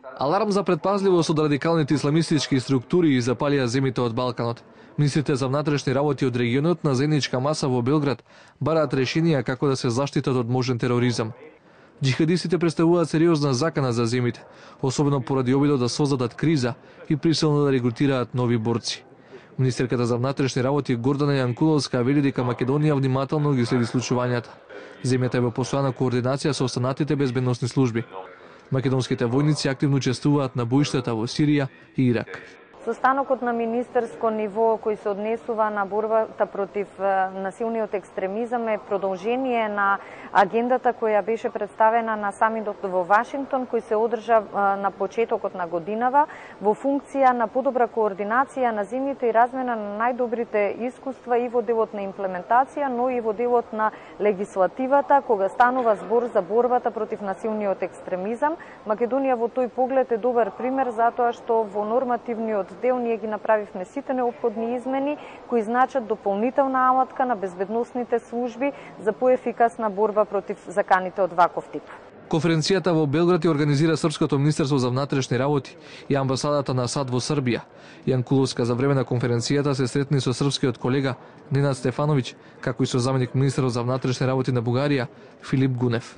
Аларм за предпазливост од радикалните исламистички структури и запалија земите од Балканот. Министрите за внатрешни работи од регионот на заедничка маса во Белград бараат решенија како да се заштитат од можен тероризам. Джихадистите представуваат сериозна закана за земите, особено поради обидот да создадат криза и присилно да регрутираат нови борци. Министерката за внатрешни работи Гордана Јанкуловска вели дека Македонија внимателно ги следи случувањата. Земјата е во постојана координација со останатите безбедносни служби. Македонските војници активно учествуваат на боиштата во Сирија и Ирак. Состанокот на министерско ниво кој се однесува на борбата против насилниот екстремизам е продолжение на агендата која беше представена на самитот во Вашингтон, кој се одржа на почетокот на годинава во функција на подобра координација на земјите и размена на најдобрите искуства и во делот на имплементација, но и во делот на легислативата, кога станува збор за борбата против насилниот екстремизам. Македонија во тој поглед е добар пример затоа што во нормативниот дел ние ги направивме сите неопходни измени кои значат дополнителна алатка на безбедносните служби за поефикасна борба против заканите од ваков тип. Конференцијата во Белград ја организира Српското министерство за внатрешни работи и амбасадата на САД во Србија. Јанкуловска за време на конференцијата се сретни со српскиот колега Ненад Стефановиќ, како и со заменик министерот за внатрешни работи на Бугарија Филип Гунев.